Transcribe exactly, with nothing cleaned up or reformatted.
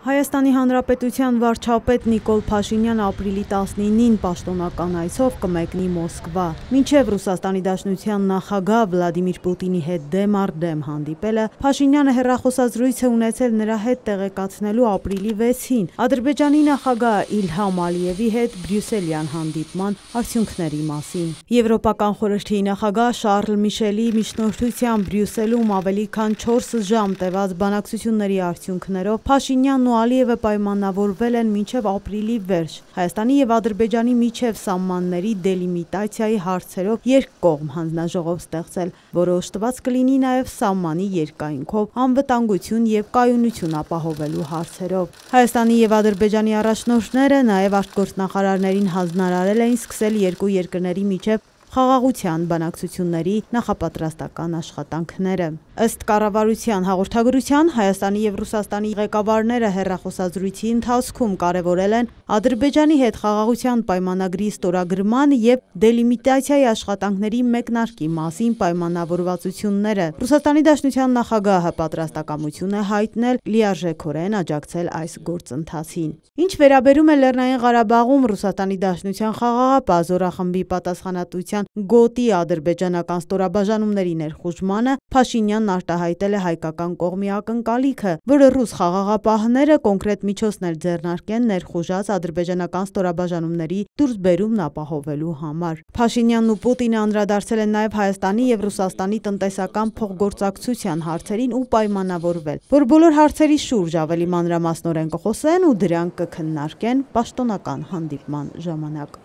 Հայաստանի Հանրապետության վարչապետ Նիկոլ Փաշինյանը ապրիլի տասնինին պաշտոնական այցով կմեկնի Մոսկվա։ Մինչև Ռուսաստանի Դաշնության նախագահ Վլադիմիր Պուտինի հետ դեմ առ դեմ հանդիպելը, Փաշինյանը հեռախոսազրույց է ունեցել նրա հետ տեղեկացնելու ապրիլի վեցին Ադրբեջանի նախագահ Իլհամ Ալիևի հետ բրյուսելյան հանդիպման արդյունքների մասին։ Եվրոպական խորհրդի նախագահ Շարլ Միշելի միջնորդությամբ Բրյուսելում ավելի քան չորս ժամ տևած բանակցությունների արդյունքներով Փաշինյանն ու Ալիևը պայմանավորվել են մինչև ապրիլի վերջ Հայաստանի և Ադրբեջանի միջև սահմանների դելիմիտացիայի հարցերով երկկողմ հանձնաժողով ստեղծել, որը օժտված կլինի նաև սահմանի երկայնքով անվտանգություն և կայունություն ապահովելու հարցերով։ Հայաստանի և Ադրբեջանի առաջնորդները նաև արտգործնախարարներին հանձնարարել էին սկսել երկու երկրների միջև խաղաղության բանակցությունների նախապատրաստական աշխատանքները։ Ըստ կառավարության հաղորդագրության, Հայաստանի և Ռուսաստանի ղեկավարները հեռախոսազրույցի ընթացքում կարևորել են Ադրբեջանի հետ խաղաղության պայմանագրի ստորագրման և դելիմիտացիայի աշխատանքների մեկնարկի մասին պայմանավորվածությունները։ Ռուսաստանի Դաշնության նախագահը պատրաստակամություն է հայտնել լիարժեքորեն աջակցել այս գործընթացին։ Ինչ վերաբերում է Լեռնային Ղարաբաղում Ռուսաստանի Դաշնության խաղաղապահ զորախմբի պատասխանատվության գոտի ադրբեջանական ստորաբաժանումների ներխուժմանը, Փաշինյանն արտահայտել է հայկական կողմի ակնկալիքը, որ ռուս խաղաղապահները կոնկրետ միջոցներ ձեռնարկեն ներխուժած ադրբեջանական ստորաբաժանումների դուրսբերումն ապահովելու համար։ Փաշինյանն ու Պուտինը անդրադարձել են նաև Հայաստանի և Ռուսաստանի տնտեսական փոխգործակցության հարցերին ու պայմանավորվել, որ բոլոր հարցերի շուրջ ավելի մանրամասնորեն կխոսեն ու դրանք կքննարկեն պաշտոնական հանդիպման ժամանակ։